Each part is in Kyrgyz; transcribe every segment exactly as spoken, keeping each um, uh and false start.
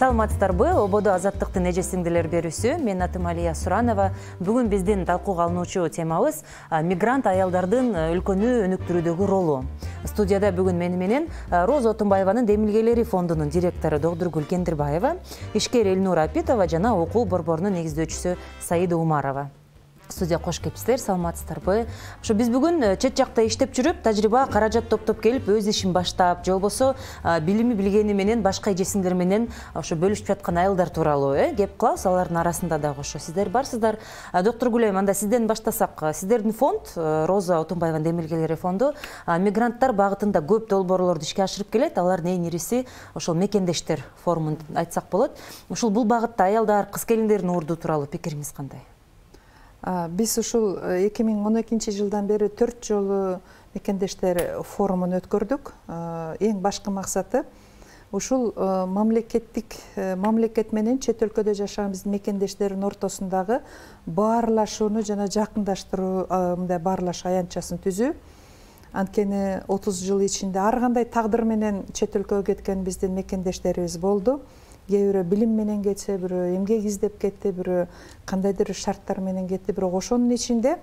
Саламатсыздарбы? Ободо азаттыктын эже сиңдилер берүүсү. Мен атым Алия Суранова. Бүгүн биздин талкууга алынуучу темабыз мигрант аялдардын өлкөнү өнүктүрүүдөгү ролу. Студияда бүгүн мени менен Роза Отунбаеванын Демилгелери фондунун директору Догдургүл Кендирбаева, ишкер Элнура Апитова жана окуу борборунун негиздөөчүсү Саида Умарова. Студия кош келипсиздер, саламатсыздарбы? Ошо биз бүгүн чет жакта иштеп жүрүп, тажрыйба, каражат топтоп келип, өз ишин баштап, же болбосо билими билгени менен башка эже сиңдилер менен ошо бөлүшүп жаткан айылдар тууралуу э кеп калабыз. Алардын арасында дагы ошо сиздер барсыздар. Доктор Гүлайым, анда сизден баштасак. Сиздердин фонд, Роза Отунбаеванын Демилгелери фонду, мигранттар багытында көп долбоорлорду ишке ашырып келет. Алардын эң ириси ошол мекендештер форумун айтсак болот. Ушул бул багытта аялдар, кыз келиндердин орду тууралуу пикириңиз кандай? Биз ушул эки миң он экинчи жылдан бери төрт жолу мекендештер форумун өткөрдүк. Эң башкы максаты ушул мамлекеттик мамлекет менен чет өлкөдө жашаган биздин мекендештердин ортосундагы баарлашууну жана жакындаштыруу, мындай баарлашуу аянтчасын түзүү. Анткени отуз жыл ичинде ар кандай тагдыр менен чет өлкөгө кеткен биздин мекендештерибиз болду. Кээ бирөө билим менен кетсе, бирөө эмгек издеп кетти, бирөө кандайдыр шарттар менен кетти. Бирок ошонун ичинде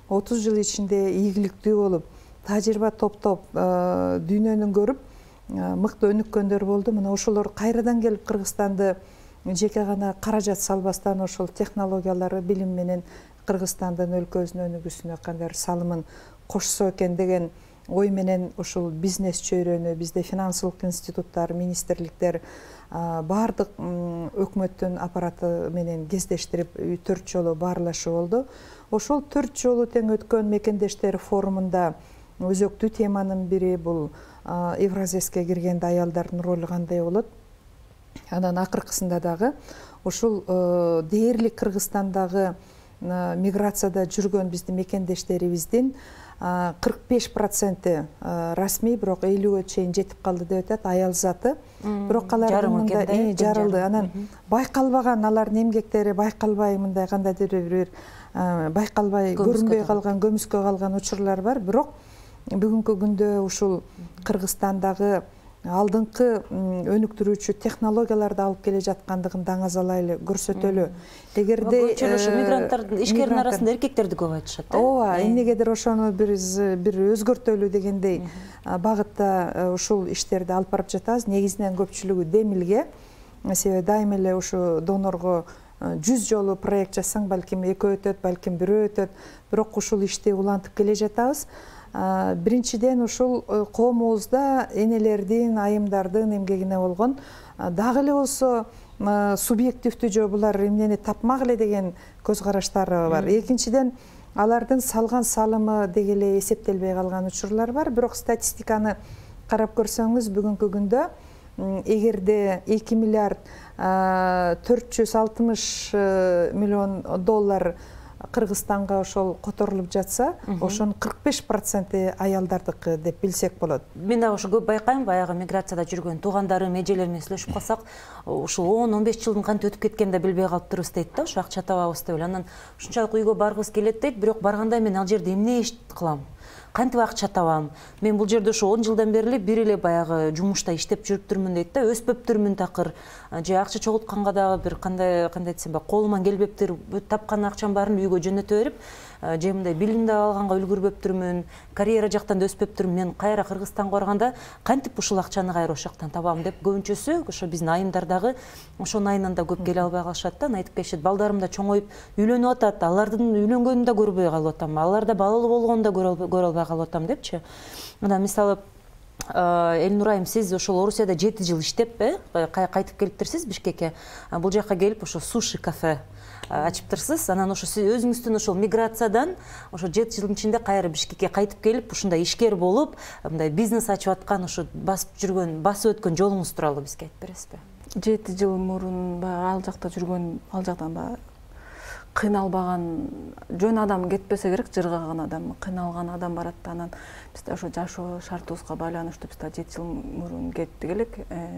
отуз жыл ичинде ийгиликтүү болуп, тажрыйба топтоп, дүйнөнүн көрүп, мыкты өнүккөндөр болду. Мына ошолор кайрадан келип Кыргызстанды жеке гана каражат салбастан ошол технологиялары, билим менен Кыргызстандын өлкөбүздүн өнүгүүсүнө кандайдыр салымын кошсо экен деген ой менен ушул бизнес чөйрөнү бизде финансылык институттар, министрликтер, баардык өкмөттүн аппараты менен кездештирип төрт жолу баарлашуу болду. Ошол төрт жолу тең өткөн мекендештер форумунда өзөктүү теманын бири бул Евразеске киргенде аялдардын ролу кандай болот. Анан акыркысында дагы ушул дээрлик Кыргызстандагы миграцияда жүргөн биздин мекендештерибиздин кырк беш проценти расмий, бирок элүүгө чейин жетип калды деп атат, аял заты. Бирок алардын мындай жарылды. Анан байкалбаган, алардын эмгектери байкалбай, мындай кандайдыр бир байкалбай, көрүнбөй калган, көмүскө калган учурлар бар. Бирок бүгүнкү күндө ушул Кыргызстандагы алдыңкы өнүктүрүүчү технологияларды алып келе жаткандыгын даңазалайлы көрсөтөлү. Эгерде мигранттардын ишкердин арасында эркектерди көп айтышат. Ооба, эмнегедир ошону биз бир өзгөртөлү дегендей багытта ушул иштерди алып барып жатабыз. Негизинен көпчүлүгү Демилге. Себеби дайыма эле ушу донорго жүз жолу проект жасаң, балким экөө өтөт, балким бирөө өтөт. Бирок ушул ишти улантып келе жатабыз. Биринчиден ушул коомубузда энелердин, айымдардын эмгегине болгон дагы эле болсо субъективдүү жөө булар эмнени тапмак эле деген көз караштары бар. Экинчиден алардын салган салымы деги эле эсептелбей калган учурлар бар. Бирок статистиканы карап көрсөңүз, бүгүнкү күндө эгерде эки миллиард төрт жүз алтымыш миллион доллар Кыргызстанга ошол которулуп жатса, ошонун кырк беш проценти аялдардыкы деп билсек болот. Мен дагы ошо көп байкайм, баягы миграцияда жүргөн туугандарым, эжелер менен сүйлөшүп калсак, ушул он он беш жылдын кантип өтүп кеткенин да билбей калыптырбыз дейт да, ошо акча табабыз деп эле. Анан ушунчалык үйгө баргыбыз келет дейт, бирок барганда мен ал жерде эмне иш кылам? Кантип акча табам? Мен бул жерде ошо он жылдан бери эле бир эле баягы жумушта иштеп жүрүптүрмүн дейт да, өспөптүрмүн такыр. Же акча чогултканга дагы бир кандай кандай десем, колуман келбептир, тапкан акчам баарын үйгө жөнөтө берип, же мындай билимди алганга үлгүрбөптүрмүн, карьера жактан да өспөптүрмүн. Мен кайра Кыргызстанга барганда кантип ушул акчаны кайра ошол жактан табам деп көбүнчөсү ошо биздин айымдар дагы ошонун айынан да көп келе албай калышат да. Айтып келишет, балдарым да чоңоюп үйлөнүп атат, алардын үйлөнгөнүн да көрбөй калып атам, алар да балалуу болгонун да көрө албай калып атам депчи. Анан мисалы Элнура айым, сиз ошол Орусияда жети жыл иштеп, кайтып келиптирсиз Бишкекке. Бул жакка келип ошо суши кафе ачыптырсыз. Анан ошо сиз өзүңүздүн ошол миграциядан ошо жети жылдын ичинде кайра Бишкекке кайтып келип, ушундай ишкер болуп, мындай бизнес ачып аткан, ошо басып жүргөн, басып өткөн жолуңуз тууралуу бизге айтып бересизби? жети жыл мурун баягы ал жакта жүргөн, ал жактан баягы кыйналбаган жөн адам кетпесе керек, жыргаган адам, кыйналган адам барат да. Анан биз да ошо жашоо шартыбызга байланыштуу биз да жети жыл мурун кеттик элек,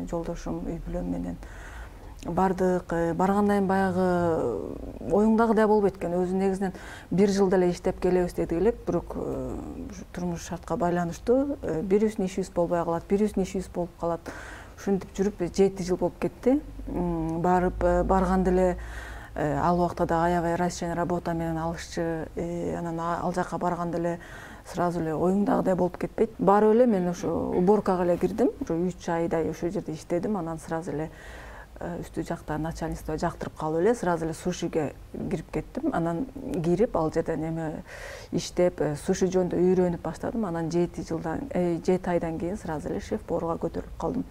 жолдошум, үй бүлөм менен бардык. Баргандан баягы оюңдагыдай болбойт экен. Өзү негизинен бир жыл деле иштеп келебиз дедик элек, бирок турмуш шартка байланыштуу бирибиздин ишибиз болбой калат, бирибиздин ишибиз болуп калат. ушинтип жүрүп жети жыл болуп кетти. Барып барганда эле ал убакта да аябай разничный работа менен алышчы. Анан ал жака барганда эле сразу эле оюңдагыдай болуп кетпейт. Барып эле мен ошо уборкага эле кирдим. Ошо үч айдай ошол жерде иштедим. Анан сразу эле үстү жакта начальство жактырып калып эле сразу эле сушиге кирип кеттим. Анан кирип ал жерде неме иштеп, суши жөнүндө үйрөнүп баштадым. Анан жети жылдан жети айдан кийин сразу эле шеф-поварга көтөрүлүп калдым.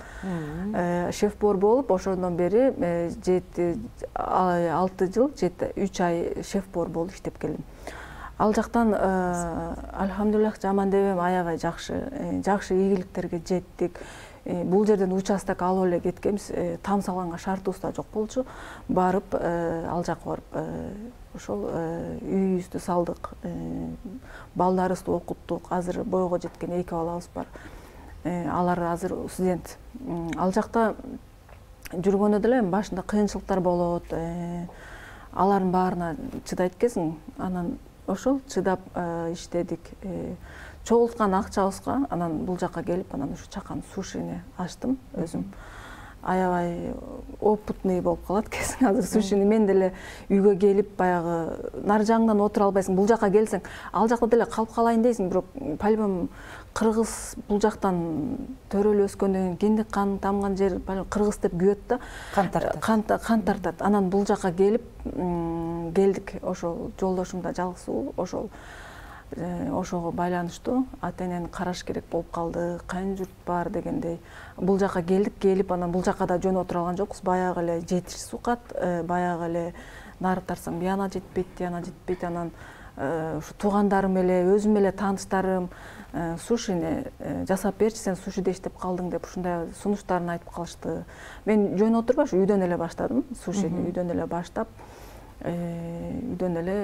Шеф-повар болуп, ошондон бери жети алты жыл, үч ай шеф-повар болуп иштеп келдим. Ал жактан альхамдулиллах жаман дебем, аябай жакшы, жакшы ийгиликтерге жеттик. Бул жерден участок алып эле кеткенбиз, там салганга шартыбыз да жок болчу. Барып, ал жака барып, ошол үйүбүздү салдык, балдарыбызды окуттук. Азыр бойго жеткен эки балабыз бар. Алар азыр студент. Ал жакта жүргөндө деле башында кыйынчылыктар болот. Алардын баарына чыдайт экенсиң. Анан ошол чыдап иштедик. Чогулткан акчабызга анан бул жака келип, анан ушу чакан сушини ачтым өзүм. Аябай опытный болуп калат экенсиң азыр сушини. Мен деле үйгө келип баягы нары жагыңдан отура албайсың. Бул жака келсең, ал жакта деле калып калайын дейсиң, бирок по-любому кыргыз бул жактан төрөлүп өскөндөн кийин киндик кан тамган жер кыргыз деп күйөт да. Кан тартат. Кан тартат. Анан бул жака келип келдик. Ошол жолдошум да жалгыз, ошол ошого байланыштуу ата-энени караш керек болуп калды, кайын журт бар дегендей. Бул жака келдик, келип анан бул жака да жөн отура алган жокпуз. Баягы эле жетиш сукат, баягы эле нары тартсаң бияна жетпейт, тияна жетпейт. Анан ушу туугандарым эле, өзүм эле тааныштарым сушини жасап берчи, сен сушиде иштеп калдың деп ушундай сунуштарын айтып калышты. Мен жөн отурбаш, үйдөн эле баштадым, сушини үйдөн эле баштап, үйдөн эле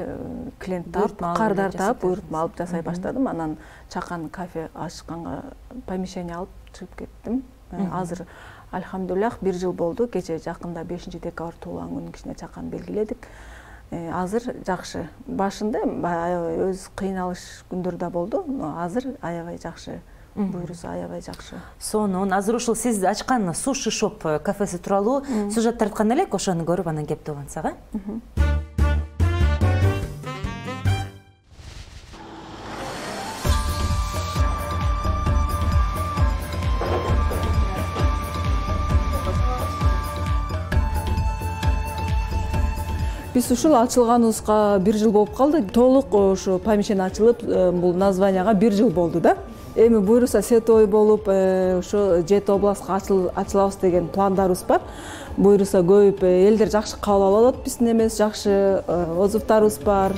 клиент таап, кардар таап, буйрутма алып жасай баштадым. Анан чакан кафе ачканга помещение алып чыгып кеттим. Азыр альхамдулиллах бир жыл болду. Кече жакында бешинчи декабрь туулган күнүн кичине чакан белгиледик. Азыр жакшы. Башында аябай өз кыйналыш күндөр да болду, но азыр аябай жакшы. Буйруса аябай жакшы. Сонун азыр ушул сиз ачкан суши шоп кафеси тууралуу сюжет тарткан элек, ошону көрүп анан кепти улантсак, э? Биз ушул ачылганыбызга бир жыл болуп калды. Толук ошо помещение ачылып, бул названияга бир жыл болду да. Эми буйруса сетовой болуп, ошо жети областка ачылабыз деген пландарыбыз бар. Буйруса көбүп, элдер жакшы кабыл алып, биздин эмес жакшы отзывдарыбыз бар.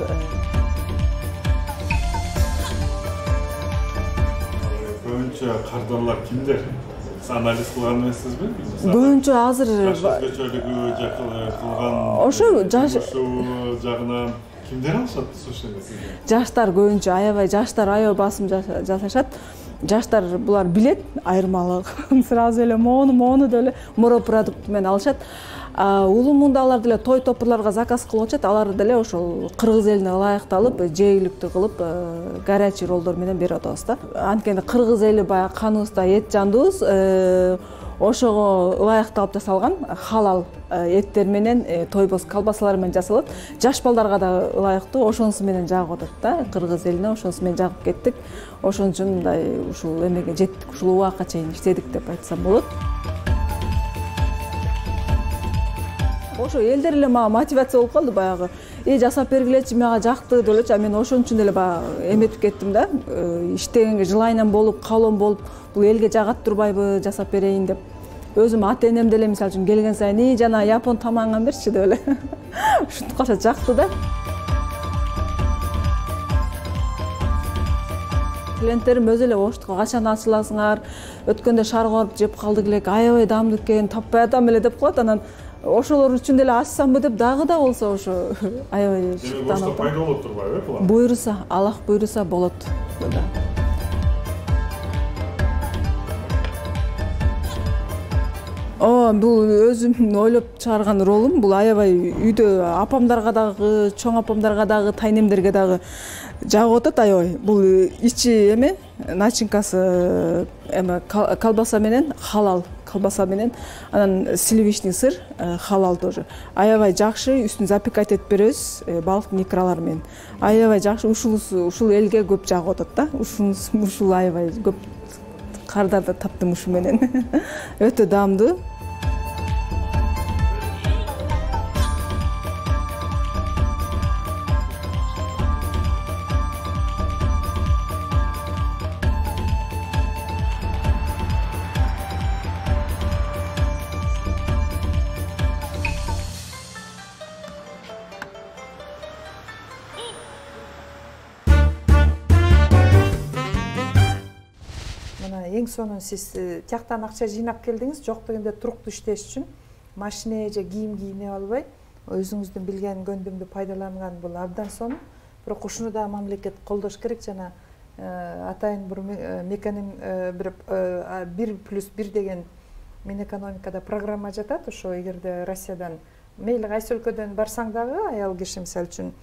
Көбүнчө кардарлар кимдер? Анализ кылган эмессизби? Көбүнчө азыр өзгөчөлүгү кылган ошо жаш жагынан кимдер алышат сушини? Жаштар көбүнчө, аябай жаштар аябай басым жасашат. Жаштар булар билет айырмалык. Сразу эле мону мону деле морепродукт менен алышат. Улумунда алар деле той топурларга заказ кылып атышат. Алар деле ошол кыргыз элине ылайыкталып, жээликтүү кылып, горячий роллдор менен берип атабыз да. Анткени кыргыз эли баягы каныбызда эт жандыбыз, ошого ылайыкталып жасалган халал эттер менен, тойбоз колбасалар менен жасалат. Жаш балдарга да ылайыктуу, ошонусу менен жагып атат да. Кыргыз элине ошонусу менен жагып кеттик. Ошон үчүн мындай ушул эмеге жеттик, ушул убакка чейин иштедик деп айтсам болот. Ошо элдер эле мага мотивация болуп калды баягы. Э жасап бергилечи, мага жакты деп элечи. А мен ошон үчүн эле баягы эметип кеттим да. Иштегенге жылайынан болуп, каалоом болуп, бул элге жагат турбайбы, жасап берейин деп. Өзүм ата-энем деле мисалы үчүн келген сайын, "И, жана япон тамагыңан берчи" деп эле. Ушинтип калса жакты да. Клиенттерим өзү эле оштукка качан ачыласыңар, өткөндө шарга барып жеп калдык элек, аябай даамдуу экен, таппай атам эле деп коет. Анан ошолор үчүн деле ачсамбы деп дагы да болсо ошо аябай шыктанып. Пайда болот турбайбы була? Буйруса, Аллах буйруса болот. О, бул өзүм ойлоп чыгарган ролум. Бул аябай үйдө апамдарга дагы, чоң апамдарга дагы, тайнемдерге дагы жагып атат аябай. Бул ичи эме, начинкасы эме колбаса менен халал колбаса менен, анан сливочный сыр, халал тоже. Аябай жакшы, үстүн запекать этип беребиз, балыктын икралары менен. Аябай жакшы, ушул ушул элге көп жагып атат да. Ушул ушул аябай көп кардарды таптым ушу менен. Өтө даамдуу. Эң сонун сиз тияктан акча жыйнап келдиңиз, жок дегенде туруктуу иштеш үчүн машина же кийим кийине албай, өзүңүздүн билген көндүмдү пайдаланган бул абдан сонун. Бирок ушуну да мамлекет колдош керек. Жана атайын бир меканин бир плюс бир деген Минэкономикада программа жатат. Ошо эгерде Россиядан мейли кайсы өлкөдөн барсаң дагы, аял киши мисалы үчүн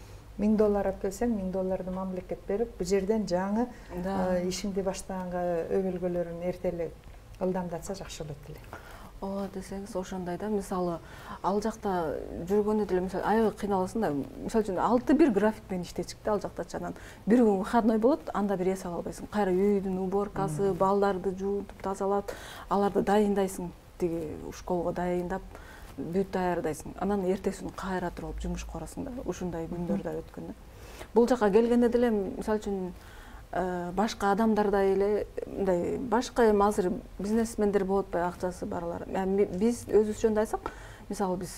миң доллар алып келсең, миң долларды мамлекет берип, бул жерден жаңы ишиңди баштаганга өбөлгөлөрүн эрте эле ылдамдатса жакшы болот эле. Ооба десеңиз ошондой да. Мисалы, ал жакта жүргөндө деле мисалы аябай кыйналасың да. Мисалы үчүн алты бир график менен иштечик да ал жакта чанан. Бир күн выходной болот, анда бир эс ала албайсың. Кайра үйдүн уборкасы, балдарды жуутуп тазалап, аларды дайындайсың, тиги школго дайындап, бүт даярдайсың. Анан эртеси күнү кайра туруп жумушка барасың да. Ушундай күндөр да өткөн да. Бул жака келгенде деле мисалы үчүн башка адамдардай эле мындай башка эми азыр бизнесмендер болот атпайбы, акчасы барлар. Биз өзүбүз жөнүндө айтсак, мисалы биз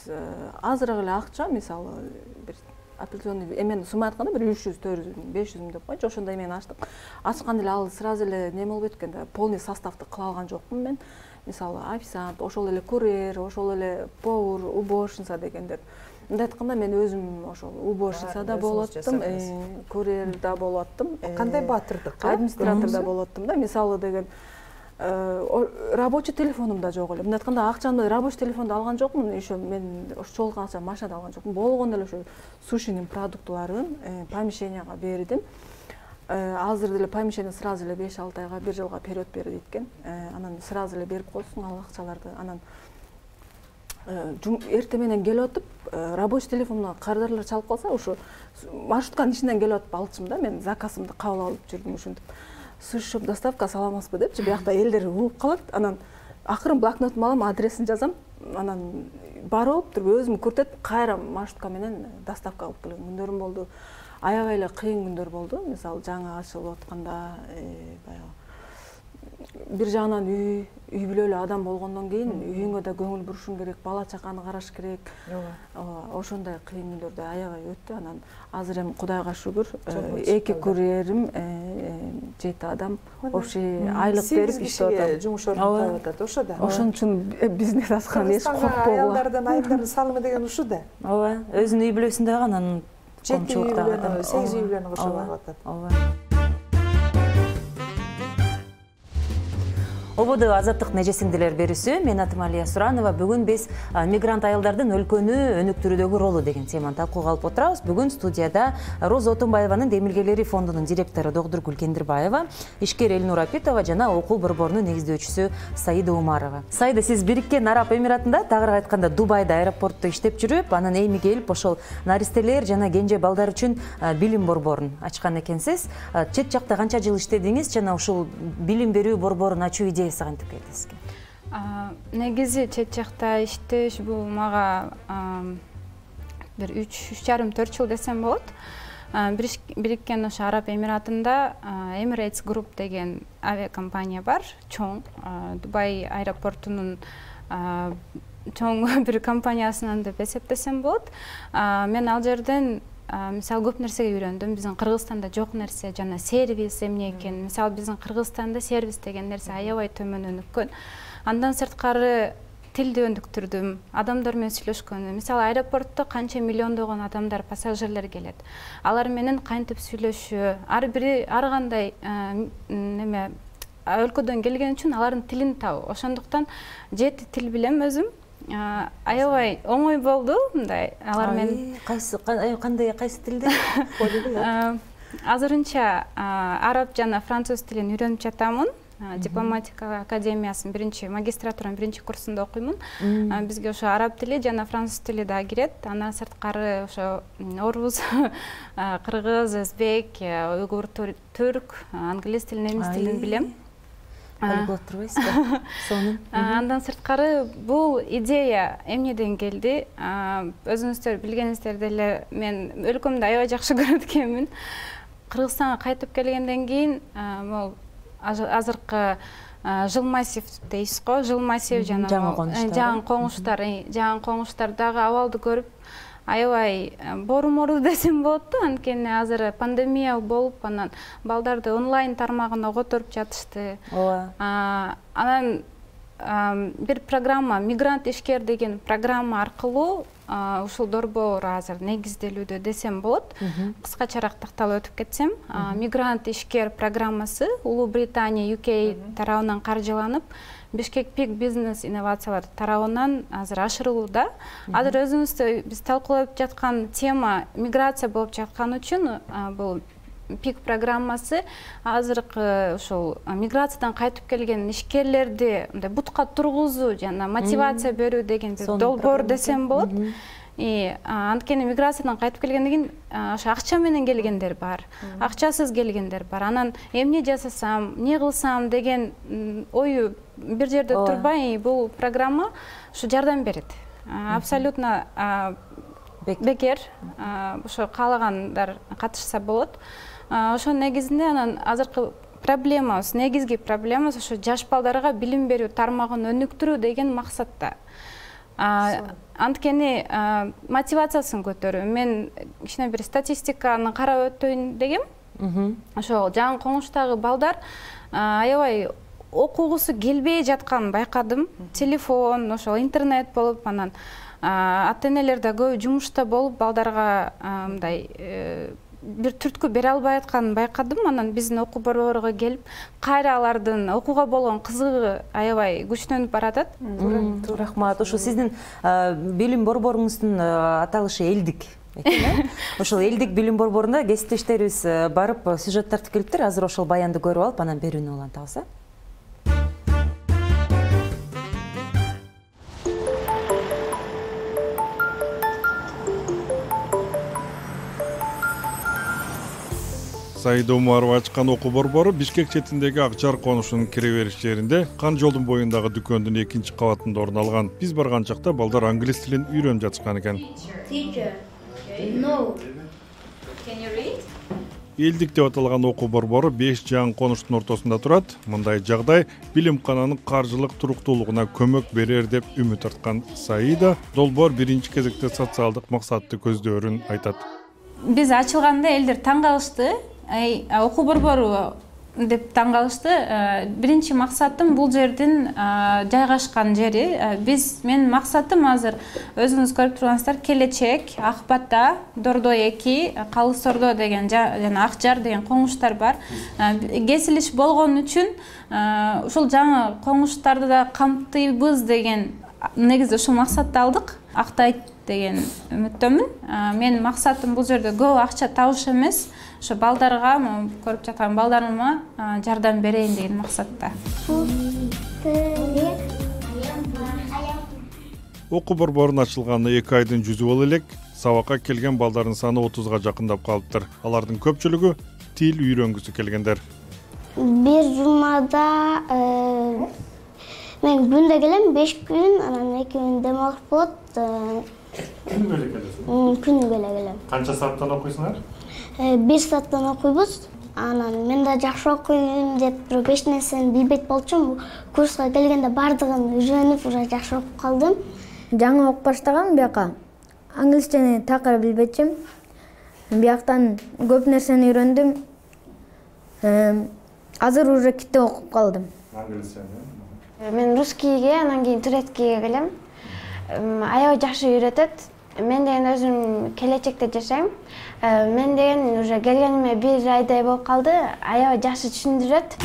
азыраак эле акча, мисалы бир определенный эмени сумма айтканда бир үч жүз, төрт жүз, беш жүз миң деп койчу, ошондой эмени ачтык. Ачканда эле ал сразу эле неме болуп кеткен да, полный составты кыла алган жокмун мен. Мисалы официант, ошол эле курьер, ошол эле повар, уборщица дегендер. Мындай айтканда мен өзүм ошол уборщица да болуп аттым, курьер да болуп аттым. Кандай баатырдык? Администратор да болуп аттым да. Мисалы деген рабочий телефонум да жок эле. Мындай айтканда акчамды рабочий телефонду алган жокмун, еще мен ошо чогулган акча машинада алган жокмун. Болгондо эле ошо сушинин продуктларын помещенияга бердим. Азыр деле помещение сразу эле беш алты айга, бир жылга период берди экен. Анан сразу эле берип койсуң ал акчаларды. Анан эрте менен келип атып, рабочий телефонуна кардарлар чалып калса, ошо маршрутканын ичинен келип атып алчумун да, мен заказымды кабыл алып жүрдүм ушинтип. Суши-шоп доставка саламатсызбы депчи, биякта элдер угуп калат. Анан акырын блокнотумду алам, адресин жазам. Анан барып туруп өзүм күртөп, кайра маршрутка менен доставка кылып келген күндөрүм болду. Аябай эле кыйын күндөр болду. Мисалы, жаңы ачылып атканда, баягы бир жагынан үй, үй бүлө эле адам болгондон кийин үйүңө да көңүл бурушуң керек, бала чаканы караш керек. Ооба. Ошондой кыйын күндөрдө аябай өттү. Анан азыр эми Кудайга шүгүр, эки курьерим, жети адам общий айлык берип иштеп атат. Жумуш ордун таап атат, ошо да. Ошон үчүн бизнес ачкан эч коркпогула. Аялдардан айымдардын салымы деген ушул да. Ооба, өзүнүн үй бүлөсүндөгү анан жети үй бүлөнү, сегиз үй бүлөнү кошуп алып атат. Ооба. Ободу азаттык нежесиңдилер берүүсү. Мен атым Алия Суранова. Бүгүн биз мигрант аялдардын өлкөнү өнүктүрүүдөгү ролу деген теманы талкууга алып отурабыз. Бүгүн студияда Роза Отунбаеванын Демилгелери фондунун директору Догдургүл Кендирбаева, ишкер Элнур Апитова жана окуу борборунун негиздөөчүсү Саида Умарова. Саида, сиз Бириккен Араб Эмиратында, тагыраак айтканда Дубайда аэропортто иштеп жүрүп, анан эми келип ошол наристелер жана кенже балдар үчүн билим борборун ачкан экенсиз. Чет жакта канча жыл иштедиңиз жана ушул билим берүү борборун ачуу кантип келди сизге? Негизи чет жакта иштеш бул мага бир үч үч жарым төрт жыл десем болот. Бириккен ошо Араб Эмиратында Emirates Group деген авиакомпания бар, чоң, Дубай аэропортунун чоң бир компаниясынан деп эсептесем болот. Мен ал жерден мисалы көп нерсеге үйрөндүм. Биздин Кыргызстанда жок нерсе жана сервис эмне экен. Мисалы биздин Кыргызстанда сервис деген нерсе аябай төмөн өнүккөн. Андан сырткары тилди өнүктүрдүм, адамдар менен сүйлөшкөнү. Мисалы аэропортто канча миллиондогон адамдар, пассажирлер келет. Алар менен кантип сүйлөшүү, ар бири ар кандай неме өлкөдөн келген үчүн алардын тилин табуу. Ошондуктан жети тил билем өзүм. Аябай оңой болду мындай алар менен. Кайсы кандай кайсы тилде? Азырынча араб жана француз тилин үйрөнүп жатамын. дипломатика академиясынын биринчи магистратуранын биринчи курсунда окуймун. Бизге ошо араб тили жана француз тили да кирет. Андан сырткары ошо орус, кыргыз, өзбек, уйгур, түрк, англис тилин, немис тилин билем. Полиглот турбайсызбы? Сонун. Андан сырткары бул идея эмнеден келди? Өзүңүздөр билгениңиздер деле мен өлкөмдү аябай жакшы көрөт экенмин. Кыргызстанга кайтып келгенден кийин могу азыркы жыл массив дейсиз го, жыл массив жана жаңы коңуштар, жаңы коңуштар дагы абалды көрүп аябай бору-мору десем болот да, анткени азыр пандемия болуп, анан балдарды онлайн тармагына которуп жатышты. Ооба. Анан бир программа «Мигрант ишкер» деген программа аркылуу ушул долбоор азыр негизделүүдө десем болот. Кыскачараак такталып өтүп кетсем, «Мигрант ишкер» программасы Улуу Британия, ю кей тарабынан каржыланып, Бишкек Пик бизнес инновациялар тарабынан азыр ашырылууда. Азыр өзүңүздө биз талкуулап жаткан тема миграция болуп жаткан үчүн бул Пик программасы азыркы ушул миграциядан кайтып келген ишкерлерди мындай бутка тургузуу жана мотивация берүү деген бир долбоор десем болот. И анткени миграциядан кайтып келгенден кийин ошо акча менен келгендер бар, акчасыз келгендер бар. Анан эмне жасасам, эмне кылсам деген ою бир жерде турбай, бул программа ушу жардам берет. Абсолютно бекер, ошо каалагандар катышса болот. Ошо негизинде анан азыркы проблемабыз, негизги проблемабыз ошо жаш балдарга билим берүү тармагын өнүктүрүү деген максатта. Анткени мотивациясын көтөрүү. Мен кичине бир статистиканы карап өтөйүн дегем. Ошо жаңы коңуштагы балдар аябай окугусу келбей жатканын байкадым. Телефон, ошо интернет болуп, анан ата-энелер да көбү жумушта болуп, балдарга мындай бир түрткү бере албай атканын байкадым. Анан биздин окуу борборго келип, кайра алардын окууга болгон кызыгы аябай күчтөнүп баратат. Рахмат. Ошо сиздин билим борборуңуздун аталышы Элдик. Ошол Элдик билим борборунда кесиптештерибиз барып сюжет тартып келиптир. Азыр ошол баянды көрүп алып, анан берүүнү улантабыз. Саида Умарова ачкан окуу борбору Бишкек четиндеги Акжар конушунун кире бериш жеринде, Кан жолдун боюндагы дүкөндүн экинчи кабатында орун алган. Биз барган чакта балдар англис тилин үйрөнүп жатышкан экен. Элдик деп аталган окуу борбору беш жаңы конуштун ортосунда турат. Мындай жагдай билимкананын каржылык туруктуулугуна көмөк берер деп үмүт арткан Саида долбоор биринчи кезекте социалдык максатты көздөрүн айтат. Биз ачылганда элдер таң калышты. Окуу борбору деп таң калышты. Биринчи максатым бул жердин жайгашкан жери. Биз менин максатым азыр өзүңүз көрүп тургансыздар, келечек Ак Бата, Дордой эки, Калыс Ордо деген жана Акжар деген коңуштар бар. Кесилиш болгон үчүн ушул жаңы коңуштарды да камтыйбыз деген негизде ушул максатты алдык. Актайт деген үмүттөмүн. Менин максатым бул жерде көп акча табыш эмес, ошо балдарга, көрүп жаткан балдарыма жардам берейин деген максатта. Окуу борборунун ачылганына эки айдын жүзү боло элек, сабакка келген балдардын саны отузга жакындап калыптыр. Алардын көпчүлүгү тил үйрөнгүсү келгендер. Бир жумада мен күндө келем, беш күн, анан эки күн дем алып болот. Күнүгө эле келесиз? Күнүгө эле келем. Канча сааттан окуйсуңар? Бир сааттан окуйбуз. Анан мен да жакшы окуйм деп туруп эч нерсени билбейт болчумун. Курска келгенде бардыгын үйрөнүп, уже жакшы окуп калдым. Жаңы окуп баштагам бияка. Англисчени такыр билбечим. Бияктан көп нерсени үйрөндүм. Азыр уже китеп окуп калдым. Англисчени? Мен русскийге, анан кийин турецкийге келем. Аябай жакшы үйрөтөт. Мен деген өзүм келечекте жашайм. Мен деген уже келгениме бир айдай болуп калды. Аябай жакшы түшүндүрөт.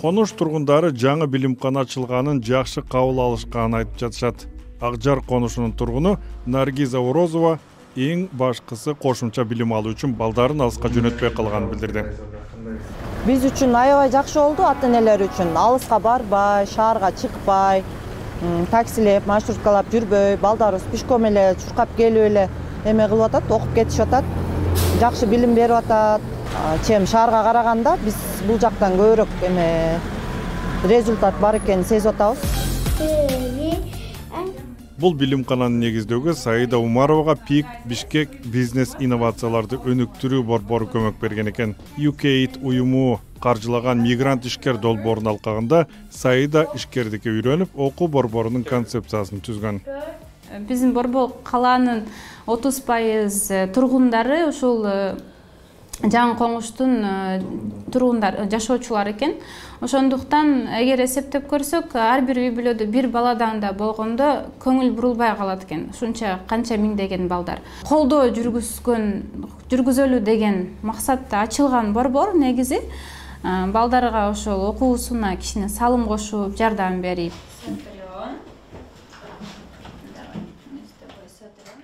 Конуш тургундары жаңы билимкана ачылганын жакшы кабыл алышканын айтып жатышат. Акжар конушунун тургуну Наргиза Орозова эң башкысы кошумча билим алуу үчүн балдарын алыска жөнөтпөй калганын билдирди. биз үчүн аябай жакшы болду, ата энелер үчүн. Алыска барбай, шаарга чыкпай, таксилеп, маршруткалап жүрбөй, балдарыбыз пешком эле чуркап келип эле эме кылып атат, окуп кетишип атат. Жакшы билим берип атат. Чем шаарга караганда биз бул жактан көбүрөөк эме результат бар экенин сезип атабыз. Бул билимкананы негиздөөгө Саида Умаровага пик Бишкек бизнес инновацияларды өнүктүрүү борбору көмөк берген экен. ю кей эйд уюму каржылаган мигрант ишкер долбоорунун алкагында Саида ишкердикке үйрөнүп, окуу борборунун концепциясын түзгөн. Биздин борбор калаанын отуз пайыз тургундары ушул жаңы коңуштун тургундар, жашоочулар экен. Ошондуктан эгер эсептеп көрсөк, ар бир үй бүлөдө бир баладан да болгондо көңүл бурулбай калат экен. Ушунча канча миңдеген балдар. Колдоо жүргүзгөн, жүргүзөлү деген максатта ачылган борбор негизи балдарга ошол окуусуна кичине салым кошуп, жардам берип.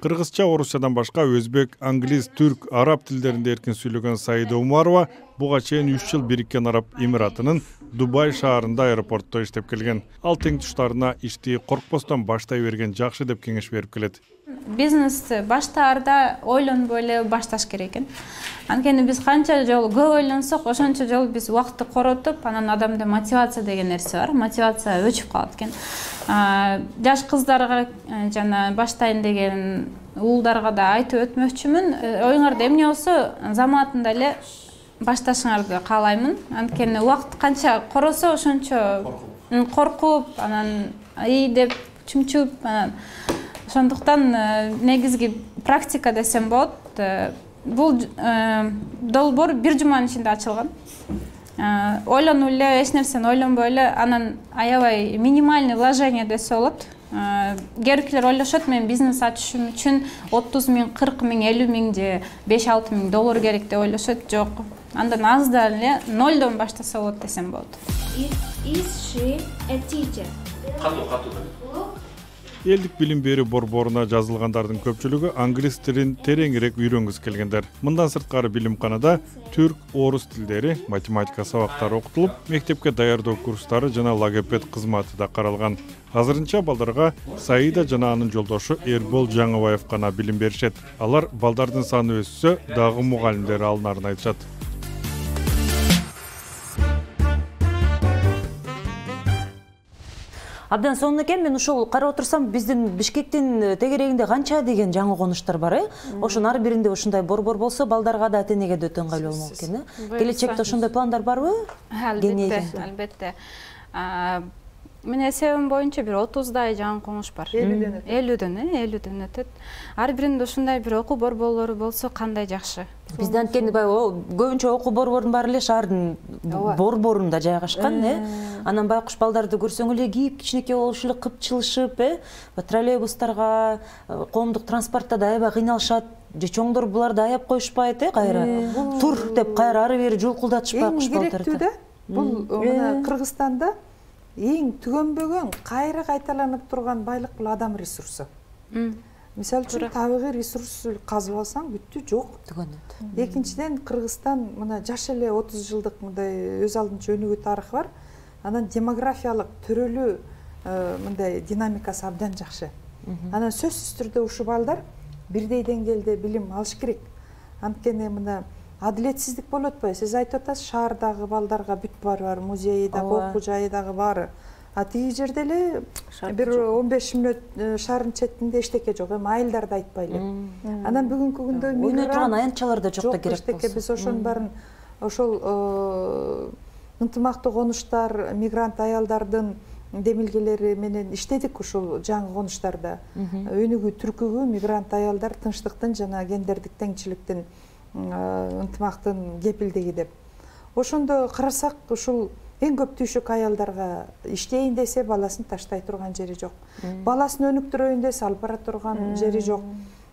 Кыргызча, орусчадан башка өзбек, англис, түрк, араб тилдеринде эркин сүйлөгөн Саида Умарова буга чейин үч жыл Бириккен Араб Эмиратынын Дубай шаарында аэропортто иштеп келген. Ал теңдештарына ишти коркпостон баштай берген жакшы деп кеңеш берип келет. Бизнести баштаарда ойлонбой эле башташ керек экен. Анткени биз канча жолу көп ойлонсок, ошончо жолу биз убакытты коротуп, анан адамда мотивация деген нерсе бар. Мотивация өчүп калат экен. Жаш кыздарга жана баштайын деген уулдарга да айтып өтмөкчүмүн. Оюңарда эмне болсо, заматында эле башташыңарды каалаймын. Анткени убакыт канча коросо, ошончо коркуп, анан ий деп чүмчүп, анан ошондуктан негизги практика десем болот. Бул долбоор бир жуманын ичинде ачылган. Ойлонуп эле, эч нерсени ойлонбой эле, анан аябай минимальный вложение десе болот. Кээбиркилер ойлошот, мен бизнес ачышым үчүн отуз миң, кырк миң, элүү миң же беш алты миң доллар керек деп ойлошот. Жок. Андан аздан эле нолдон баштаса болот десем болот. Is she a teacher? Катуу, катуу. Элдик билим берүү борборуна жазылгандардын көпчүлүгү англис тилин тереңирээк үйрөнгүсү келгендер. Мындан сырткары билимканада түрк, орус тилдери, математика сабактары окутулуп, мектепке даярдоо курстары жана логопед кызматы да каралган. Азырынча балдарга Саида жана анын жолдошу Эрбол Жаңыбаев гана билим беришет. Алар балдардын саны өссө, дагы мугалимдер алынарын айтышат. Абдан сонун экен, мен ушул карап отурсам, биздин Бишкектин тегерегинде канча деген жаңы конуштар бар, э? Ошонун ар биринде ушундай борбор болсо, балдарга да, ата энеге да өтө ыңгайлуу болмок экен, э? Келечекте ошондой пландар барбы? Албетте, албетте. Мен эсебим боюнча бир отуздай жаңы коңуш бар. элүүдөн өтөт. элүүдөн, э, элүүдөн өтөт. Ар биринде ушундай бир окуу борборлору болсо кандай жакшы. Бизде анткени баягы көбүнчө окуу борборунун баары эле шаардын борборунда жайгашкан, э? Анан байкуш балдарды көрсөң эле кийип, кичинекей болуш эле кыпчылышып, э? Троллейбустарга, коомдук транспортто да аябай кыйналышат. Же чоңдор буларды аяп коюшпайт, э, кайра. Тур деп кайра ары бери жулкулдатышпай куш балдарды. Эң керектүү да, бул мына Кыргызстанда эң түгөнбөгөн, кайра кайталанып турган байлык бул адам ресурсу. Мисалы үчүн табигый ресурс казып алсаң бүттү, жок. Түгөнөт. Экинчиден, Кыргызстан мына жаш эле отуз жылдык мындай өз алдынча өнүгүү тарыхы бар. Анан демографиялык төрөлүү мындай динамикасы абдан жакшы. Анан сөзсүз түрдө ушул балдар бирдей деңгээлде билим алыш керек. Анткени мына адилетсиздик болуп атпайбы? Сиз айтып атасыз, шаардагы балдарга бүт баары бар, музейи дагы, окуу жайы дагы баары. А тиги жерде эле бир он беш мүнөт шаардын четинде эчтеке жок, эми айылдарды айтпайлы. Анан бүгүнкү күндө ойной турган аянтчалар да жок да керек болсо. Биз ошонун баарын ошол ынтымактуу конуштар, мигрант аялдардын демилгелери менен иштедик ушул жаңы конуштарда. Өнүгүү түркүгү мигрант аялдар тынчтыктын жана гендердик теңчиликтин ынтымактын кепилдиги деп. Ошондо карасак, ушул эң көп түйшүк аялдарга иштейин десе баласын таштай турган жери жок. Баласын өнүктүрөйүн десе алып бара турган жери жок.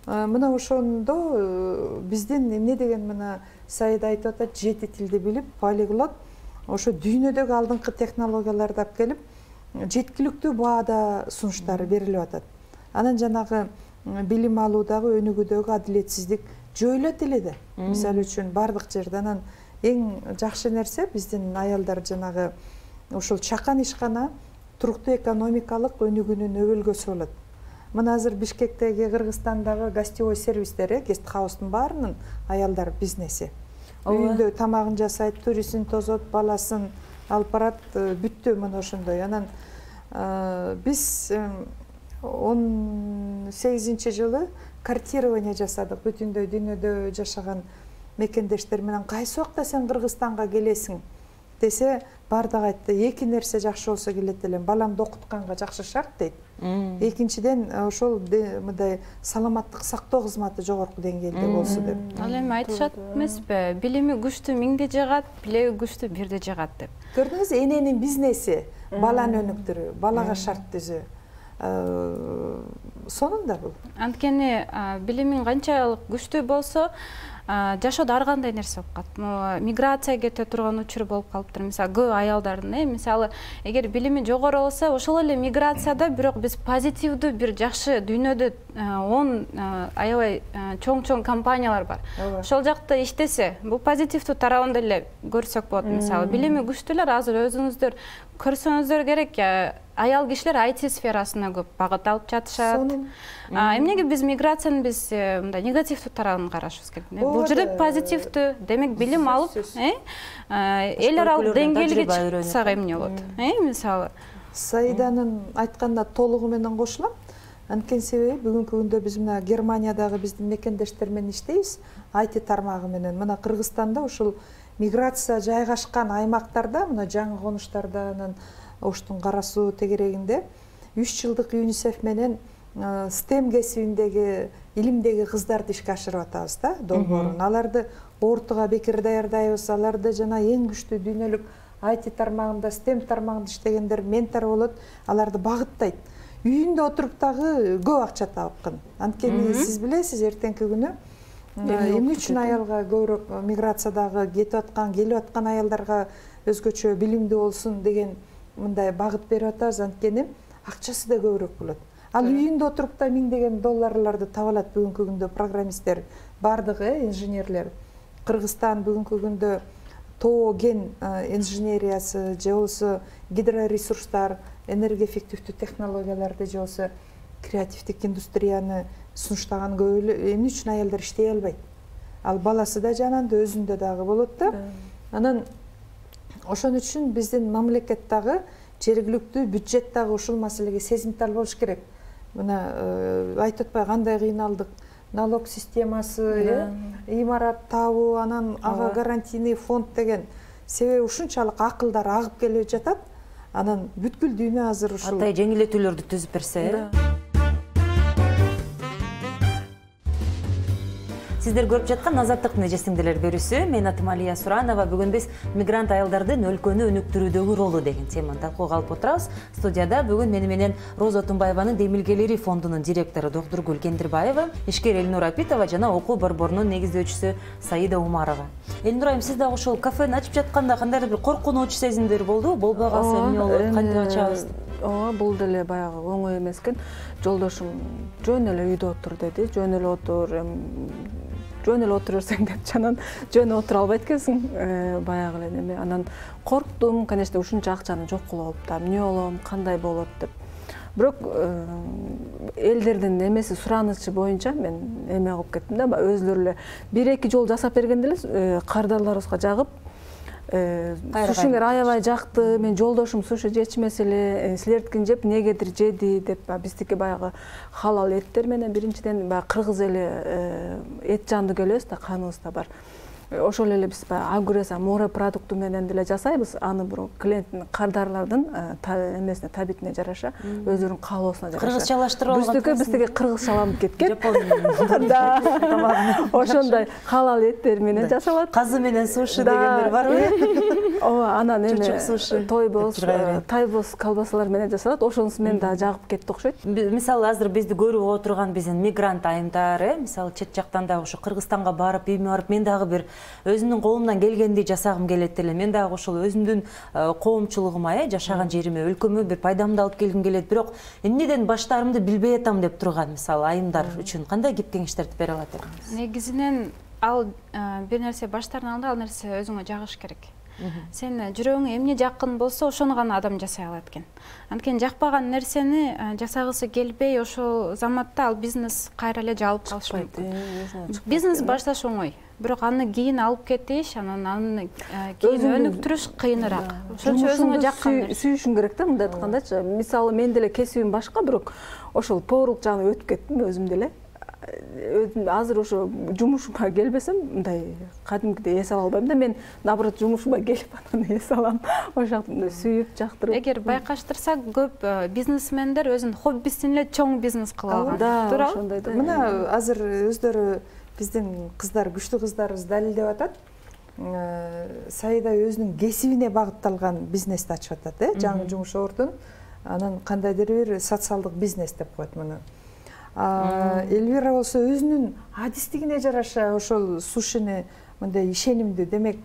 Мына ошондо биздин эмне деген мына Саида айтып атат, жети тилди билип, полиглот, ошо дүйнөдөгү алдыңкы технологияларды алып келип, жеткиликтүү баада сунуштары берилип атат. Анан жанагы билим алуудагы өнүгүүдөгү адилетсиздик жоюлат эле да. Мисалы үчүн бардык жерде анан эң жакшы нерсе биздин аялдар жанагы ушул чакан ишкана туруктуу экономикалык өнүгүүнүн өбөлгөсү болот. Мына азыр Бишкектеги, Кыргызстандагы гостевой сервистер, гест хаустун баарынын аялдар бизнеси. Үйүндө тамагын жасайт, турисин тозот, баласын алып барат, бүттү мына ошондой. Анан биз он сегизинчи жылы картирование жасадык. Бүтүндөй дүйнөдө жашаган мекендештер менен кайсы убакта сен Кыргызстанга келесиң десе, бардыгы айтты, эки нерсе жакшы болсо келет элем. Баламды окутканга жакшы шарт дейт. Экинчиден ошол мындай саламаттык сактоо кызматы жогорку деңгээлде болсо деп. Ал эми айтышат эмеспи, билими күчтүү миңде жагат, билеги күчтүү бирде жагат деп. Көрдүңүз, эненин бизнеси баланы өнүктүрүү, балага шарт түзүү. Сонунда бул. Анткени билимиң канчалык күчтүү болсо, жашоодо ар кандай нерсе болуп калат. Миграция кете турган учур болуп калыптыр. Мисалы, көп аялдардын, э, мисалы, эгер билими жогору болсо, ошол эле миграцияда бирок биз позитивдүү бир жакшы дүйнөдө он аябай чоң-чоң компаниялар бар. Ошол жакта иштесе, бул позитивдүү тарабын деле көрсөк болот. Мисалы, билими күчтүүлөр азыр өзүңүздөр көрсөңүздөр керек, аял кишилер ай ти сферасына көп багыт алып жатышат. Эмнеге биз миграциянын биз мындай негативдүү тарабын карашыбыз керек? Бул жерде позитивдүү, демек билим алып, эл аралык деңгээлге чыксак эмне болот? Мисалы, Саиданын айтканына толугу менен кошулам. Анткени себеби бүгүнкү күндө биз мына Германиядагы биздин мекендештер менен иштейбиз, ай ти тармагы менен. Мына Кыргызстанда ушул миграция жайгашкан аймактарда, мына жаңы конуштарда, анан Оштун Кара суу тегерегинде үч жылдык ЮНИСЕФ менен стем кесибиндеги, илимдеги кыздарды ишке ашырып атабыз да, долбоорун. Аларды ортуга бекер даярдайбыз, аларды жана эң күчтүү дүйнөлүк ай ти тармагында, стем тармагында иштегендер ментор болот, аларды багыттайт. Үйүндө отуруп дагы көп акча тапкан. Анткени сиз билесиз, эртеңки күнү эмне үчүн аялга көбүрөөк миграциядагы кетип аткан, келип аткан аялдарга өзгөчө билимдүү болсун деген мындай багыт берип атабыз, анткени акчасы да көбүрөөк болот. Ал үйүндө отуруп да миңдеген долларларды таба алат бүгүнкү күндө программисттер, бардыгы инженерлер. Кыргызстан бүгүнкү күндө тоо кен инженериясы, же болбосо гидроресурстар, энергия эффективдүү технологияларды, же болбосо креативдик индустрияны сунуштаган көп эле эмне үчүн аялдар иштей албайт? Ал баласы да жанында, өзүндө дагы болот да. Анан ошон үчүн биздин мамлекет дагы, жергиликтүү бюджет дагы ушул маселеге сезимтал болуш керек. Мына айтып атпай кандай кыйналдык, налог системасы, имарат табуу, анан ага гарантийный фонд деген. Себеби ушунчалык акылдар агып келип жатат. Анан бүткүл дүйнө азыр ушул Атай жеңилдетүүлөрдү түзүп берсе. Сиздер көрүп жаткан Азаттыктын эжесиңдилер берүүсү. Мен атым Алия Суранова. Бүгүн биз мигрант аялдардын өлкөнү өнүктүрүүдөгү ролу деген теманы талкууга алып отурабыз. Студияда бүгүн мени менен Роза Тумбаеванын Демилгелери фондунун директору Доктургүл Кендирбаева, ишкер Элнура Апитова жана окуу борборунун негиздөөчүсү Саида Умарова. Элнура айым, сиз дагы ошол кафени ачып жатканда кандайдыр бир коркунуч сезимдер болдубу? Болбой калса эмне болот? Кантип ачабыз? Ооба, бул деле баягы оңой эмес экен. Жолдошум жөн эле үйдө отур деди. Жөн эле отур, жөн эле отура берсең деп, жанан жөн отура албайт экенсиң. Баягы эле неме. Анан корктум, конечно, ушунча акчаны жок кылып алып, эмне болом, кандай болот деп. Бирок элдердин эмеси суранычы боюнча мен эме кылып кеттим да, өзүлөрү эле бир-эки жол жасап бергенде эле кардарларыбызга жагып, сушиңер аябай жакты, мен жолдошум суши жечмес эле, силердикин жеп негедир жеди деп, биздики баягы халал эттер менен биринчиден баягы кыргыз эле эт жандуу келебиз да, каныбызда бар. Ошол эле биз агуреса море продукту менен деле жасайбыз. Аны бирок клиенттин, кардарлардын эмесине, табитине жараша, өзүнүн каалоосуна жараша. Кыргызчалаштырып алган. Биздики биздики кыргызчаланып кеткен. Ошондой халал эттер менен жасалат. Казы менен суши дегендер барбы? Ооба, анан эме тойбоз, тайбоз колбасалар менен жасалат. Ошонусу менен да жагып кетти окшойт. Мисалы, азыр бизди көрүп отурган биздин мигрант айымдар, мисалы чет жактан дагы ушу Кыргызстанга барып, эми барып, мен дагы бир өзүмдүн колумдан келгенди жасагым келет эле. Мен дагы ошол өзүмдүн коомчулугума, жашаган жериме, өлкөмө бир пайдамды алып келгим келет. Бирок эмнеден баштаарымды билбей атам деп турган мисалы айымдар үчүн кандай кеп кеңештерди бере алат элеңиз? Негизинен ал бир нерсе баштардан алда ал нерсе өзүңө жагыш керек. Сен жүрөгүңө эмне жакын болсо ошону гана адам жасай алат экен. Анткени жакпаган нерсени жасагысы келбей ошол заматта ал бизнес кайра эле жабылып калышы мүмкүн. Бизнес башташ оңой, бирок аны кийин алып кетиш, анан аны кийин өнүктүрүш кыйыныраак. Ошончо өзүңө жаккан сүйүшүң керек да, мындай айткандачы. Мисалы мен деле кесибим башка, бирок ошол поварлык жагына өтүп кеттим өзүм деле. Азыр ошо жумушума келбесем, мындай кадимкидей эс ала албайм да. Мен наоборот жумушума келип анан эс алам. Ошол сүйүп, жактырып. Эгер байкаштырсак, көп бизнесмендер өзүнүн хоббисин эле чоң бизнес кылып алган. Туурабы? Мына азыр өздөрү биздин кыздар, күчтүү кыздарыбыз далилдеп атат. Саида өзүнүн кесибине багытталган бизнести ачып атат, э, жаңы жумуш ордун. Анан кандайдыр бир социалдык бизнес деп коет муну. Элвира болсо өзүнүн адистигине жараша ошол сушини мындай ишенимдүү, демек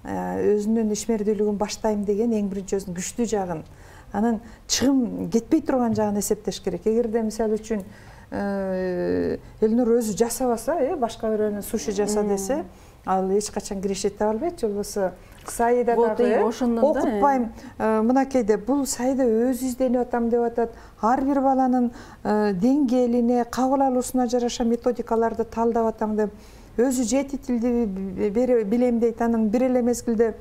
өзүнүн ишмердүүлүгүн баштайм деген эң биринчи өзүнүн күчтүү жагын, анан чыгым кетпей турган жагын эсептеш керек. Эгерде мисалы үчүн Элнур өзү жасабаса, э, башка бирөөнүн суши жаса десе, ал эч качан киреше таба албайт. Болбосо Саида дагы окутпайм, мынакейде бул Саида өзү изденип атам деп атат. Ар бир баланын деңгээлине, кабыл алуусуна жараша методикаларды талдап атам деп, өзү жети тилди билем дейт. Анын бир эле мезгилде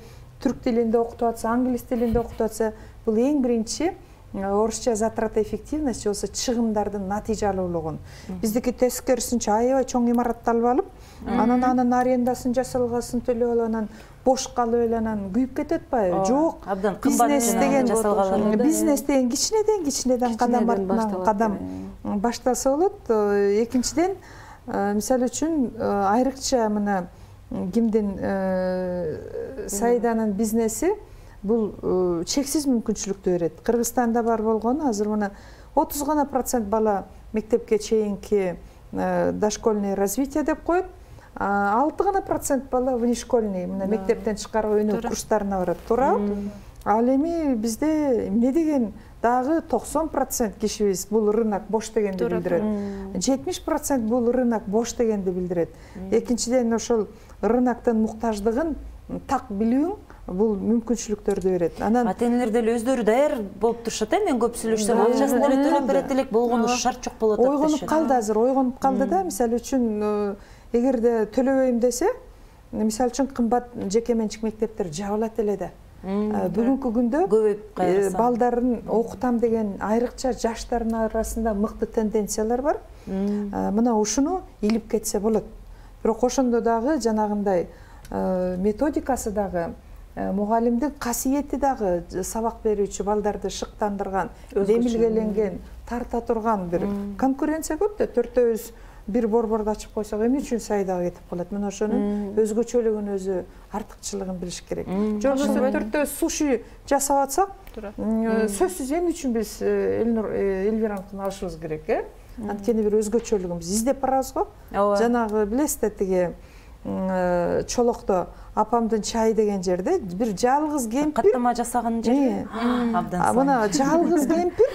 түрк тилинде окутуп атса, англис тилинде окутуп атса, бул эң биринчи орусча затрата эффективность, болсо чыгымдардын натыйжалуулугун. Биздики тескерисинче аябай чоң имаратты алып алып, анан анын арендасын жасалгасын төлөп алып, анан бош калып эле анан күйүп кетет атпайбы? Жок. Абдан кымбат жасалган. Бизнес деген кичинеден кичинеден кадам артынан кадам башталса болот. Экинчиден, мисалы үчүн айрыкча мына кимдин Саиданын бизнеси бул чексиз мүмкүнчүлүктү берет. Кыргызстанда бар болгону азыр мына отуз гана процент бала мектепке чейинки дошкольное развитие деп коет. алты гана процент бала внешкольный, мына мектептен чыккарга өнөр курстарына барат. Туурабы? Ал эми бизде эмне деген дагы токсон процент кишибиз бул рынок бош дегенди билдирет. жетимиш процент бул рынок бош дегенди билдирет. Экинчиден ошол рыноктун муктаждыгын так билүүң бул мүмкүнчүлүктөрдү берет. Анан ата-энелер деле өздөрү даяр болуп турушат, э, мен көп сүйлөшсөм, акчасын деле төлөп берет элек болгону шарт жок болуп атат. Ойгонуп калды азыр, ойгонуп калды да. Мисалы үчүн эгерде төлөбөйм десе, мисалы үчүн кымбат жеке менчик мектептер жабылат эле да. Бүгүнкү күндө балдарын окутам деген айрыкча жаштардын арасында мыкты тенденциялар бар. Мына ушуну илип кетсе болот. Бирок ошондо дагы жанагындай методикасы дагы, мугалимдин касиети дагы сабак берүүчү балдарды шыктандырган, демилгеленген, тарта турган бир конкуренция көп да. Төртөөбүз бир борборду ачып койсок, эмне үчүн Саидага кетип калат? Мына ошонун өзгөчөлүгүн, өзү артыкчылыгын билиш керек. Же болбосо төртөөбүз суши жасап атсак, сөзсүз эмне үчүн биз Элнур Элвираныкын алышыбыз керек, э? Анткени бир өзгөчөлүгүбүз издеп барабыз го. Жанагы билесиз тиги Чолокто апамдын чайы деген жерде бир жалгыз кемпир каттама жасаган жер. Абдан. Мына жалгыз кемпир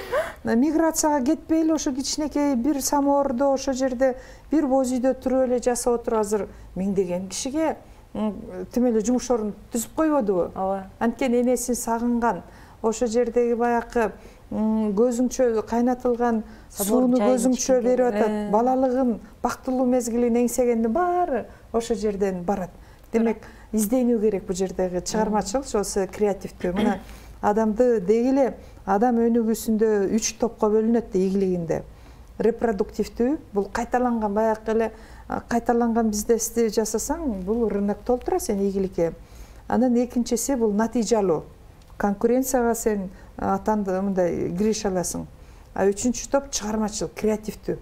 миграцияга кетпей эле ошо кичинекей бир самоордо ошо жерде бир боз үйдө туруп эле жашап отуруп азыр миңдеген кишиге тим эле жумуш орун түзүп койбодубу? Ооба. Анткени энесин сагынган, ошо жердеги баягы көзүңчө кайнатылган сууну көзүңчө берип атат. Балалыгын, бактылуу мезгилин эңсегендин баары ошо жерден барат. Демек, изденүү керек бул жердеги чыгармачылык, болсо креативдүү. Мына адамды деги эле адам өнүгүүсүндө үч топко бөлүнөт да ийгилигинде. Репродуктивдүү, бул кайталанган баягы эле кайталанган бизнести жасасаң, бул рынок толтура сен ийгиликке. Анан экинчиси бул натыйжалуу. Конкуренцияга сен атанды мындай киреше аласың. А үчүнчү топ чыгармачылык, креативдүү.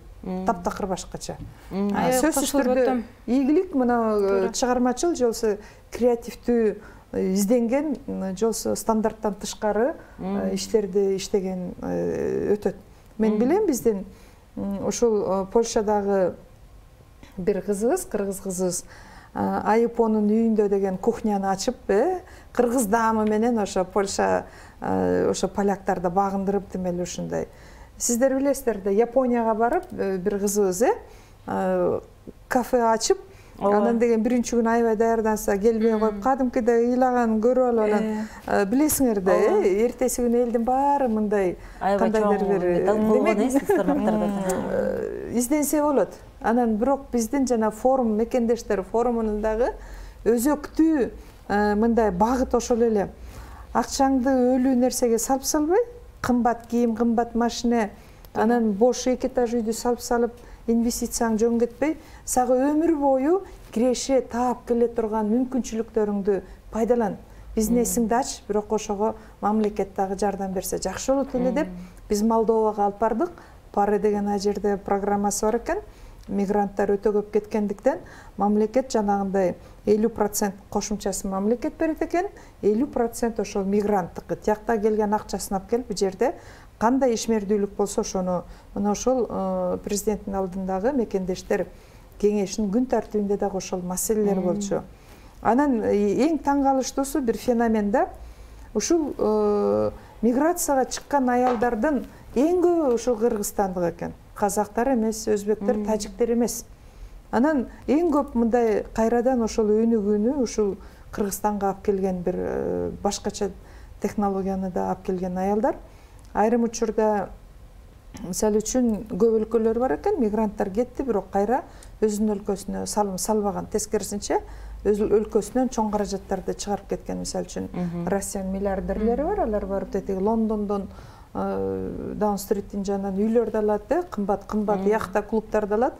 Таптакыр башкача. Сөзсүз түрдө ийгилик мына чыгармачыл, же болбосо креативдүү изденген, же болбосо стандарттан тышкары иштерди иштеген өтөт. Мен билем биздин ушул Польшадагы бир кызыбыз, кыргыз кызыбыз Айыпонун үйүндө деген кухняны ачып, кыргыз даамы менен ошо Польша ошо поляктарды багындырып, демели ушундай. Сиздер билесиздер да, Японияга барып бир кызыбыз кафе ачып, Анан деген биринчи күн аябай даярданса келбей коюп, кадимкидей ыйлаганын көрүп алып анан билесиңер да, эртеси күнү элдин баары мындай кандайдыр бир демек изденсе болот. Анан бирок биздин жана форум мекендештер форумунун дагы өзөктүү мындай багыт ошол эле. Акчаңды өлүү нерсеге салып салбай, кымбат кийим, кымбат машина, анан бош эки этаж үйдү салып салып, инвестицияң жөн кетпей, сага өмүр бою киреше таап келе турган мүмкүнчүлүктөрүңдү пайдалан. Бизнесиңди ач, бирок ошого мамлекет дагы жардам берсе жакшы болот эле деп биз Молдовага алып бардык. Пары деген ай жерде программасы бар экен. Мигранттар өтө көп кеткендиктен мамлекет жанагындай элүү процент кошумчасын мамлекет берет экен, элүү процент ошол мигранттыкы. Тиякта келген акчасын алып келип бу жерде кандай ишмердүүлүк болсо ошону мына ошол президенттин алдындагы мекендештер кеңешинин күн тартибинде дагы ошол маселелер болчу. Анан эң таң калыштуусу бир феномен да, ушул миграцияга чыккан аялдардын эң көбү ушул кыргызстандык экен. Казактар эмес, өзбектер, тажиктер эмес. Анан эң көп мындай кайрадан ошол өнүгүүнү ушул Кыргызстанга алып келген бир башкача технологияны да алып келген аялдар. Айрым учурда мисалы үчүн көп өлкөлөр бар экен, мигранттар кетти, бирок кайра өзүнүн өлкөсүнө салым салбаган. Тескерисинче өз өлкөсүнөн чоң каражаттарды чыгарып кеткен. Мисалы үчүн Россиянын миллиардерлери бар, алар барып тетиги Лондондон Даун-стриттин жанынан үйлөрдү алат, кымбат кымбат яхта клубдарды алат.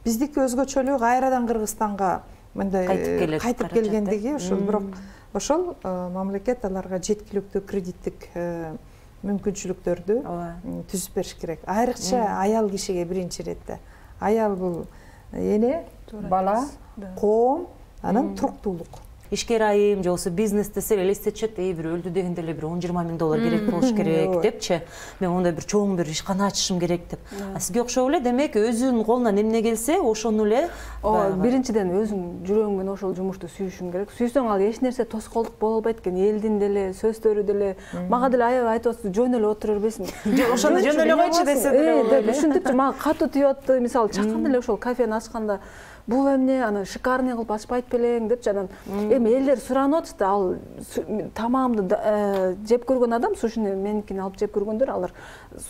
Биздики өзгөчөлүгү кайрадан Кыргызстанга мындай кайтып келгендиги ошол, бирок ошол мамлекет аларга жеткиликтүү кредиттик мүмкүнчүлүктөрдү түзүп бериш керек. Айрыкча аял кишиге биринчи иретте. Аял бул эне, бала, коом, анан туруктуулук. Ишкер айым же болбосо бизнес десе элестетишет, эй бир өлдү дегенде эле бир он жыйырма миң доллар керек болуш керек депчи. Мен мондай бир чоң бир ишкана ачышым керек деп. А сизге окшоп эле, демек өзүнүн колунан эмне келсе, ошону эле биринчиден өзүң жүрөгүң менен ошол жумушту сүйүшүң керек. Сүйсөң ал эч нерсе тоскоолдук боло албайт экен. Элдин деле сөздөрү деле мага деле аябай айтып атсыз, жөн эле отура бербейсиң. Ошону жөн эле койчу десе деле. Ушинтипчи мага катуу тийип атты. Мисалы чакан эле ошол кафени ачканда бул эмне, аны шикарный кылып ачпайт белең депчи, анан эми элдер суранып атышты. Ал тамамды жеп көргөн адам, сушини меникини алып жеп көргөндөр, алар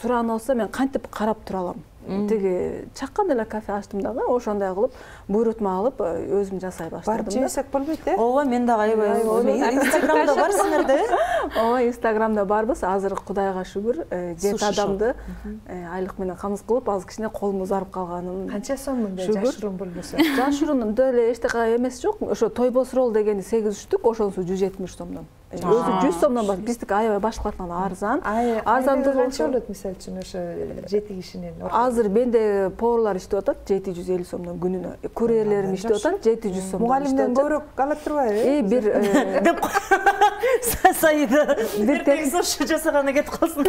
суранып алса мен кантип карап тура алам. Тиги чакан эле кафе ачтым дагы, ошондой кылып буйрутма алып өзүм жасай баштадым. Барып жесек болбойт э? Ооба, мен дагы аябай. Инстаграмда барсыңар да э? Ооба, Инстаграмда барбыз. Азыр Кудайга шүгүр, жети адамды айлык менен камсыз кылып, азыр кичине колум узарып калганын. Канча сом мындай жашыруун болбосо? Жашыруун деле эчтеке эмес жок. Ошо тойбос ролл дегени сегиз жүздүк, ошонусу жүз жетимиш сомдон. Өзү жүз сомдон бар. Биздики аябай башкалардан арзан. Арзандыгы канча болот мисалы үчүн ошо жети кишинин? Азыр менде поварлар иштеп атат жети жүз элүү сомдон күнүнө. Курьерлерим иштеп атат жети жүз сомдон. Мугалимден көбүрөөк ала турбайбы? Э, бир деп Саида бир техничка жасаганы кетип калсын.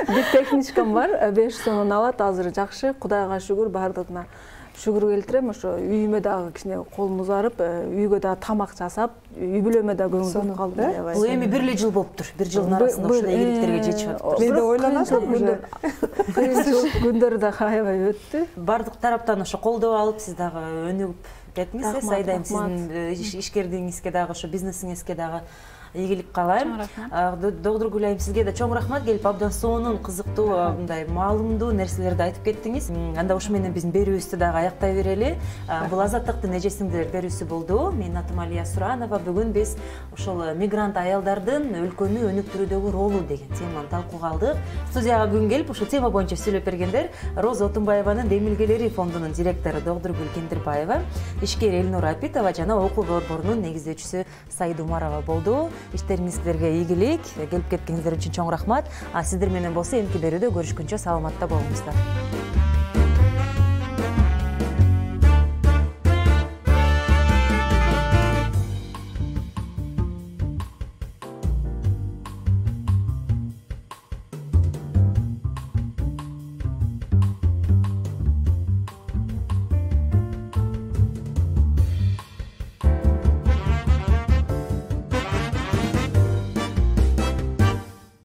Бир техничкам бар, беш сомдон алат. Азыр жакшы, Кудайга шүгүр, бардыгына шүгүр келтирем. Ошо үйүмө дагы кичине колум узарып, үйгө дагы тамак жасап, үй бүлөмө дагы көңүл буруп калдым. Бул эми бир эле жыл болуптур. Бир жылдын арасында ушундай ийгиликтерге жетишип атыптыр. Мен да ойлонатам күндөр. Кыйынчылык күндөр да аябай өттү. Бардык тараптан ошо колдоо алып, сиз дагы өнүгүп кеттиңиз. Сайда сиздин ишкердигиңизге дагы, ошо бизнесиңизге дагы ийгилик каалайм. Доктор Гүлайым, сизге да чоң рахмат, келип абдан сонун, кызыктуу, мындай маалымдуу нерселерди айтып кеттиңиз. Анда ушу менен биздин берүүбүздү дагы аяктай берели. Бул Азаттыктын эжесиңдер берүүсү болду. Менин атым Алия Суранова. Бүгүн биз ошол мигрант аялдардын өлкөнү өнүктүрүүдөгү ролу деген теманы талкууга алдык. Студияга бүгүн келип ушул тема боюнча сүйлөп бергендер Роза Отунбаеванын Демилгелери фондунун директору доктор Гүл Кендирбаева, ишкер Элнур Апитова жана окуу борборунун негиздөөчүсү Саида Умарова болду. Иштериңизге ийгилик, келип кеткениңиздер үчүн чоң рахмат. А сиздер менен болсо эмки берүүдө көрүшкүнчө саламатта болуңуздар.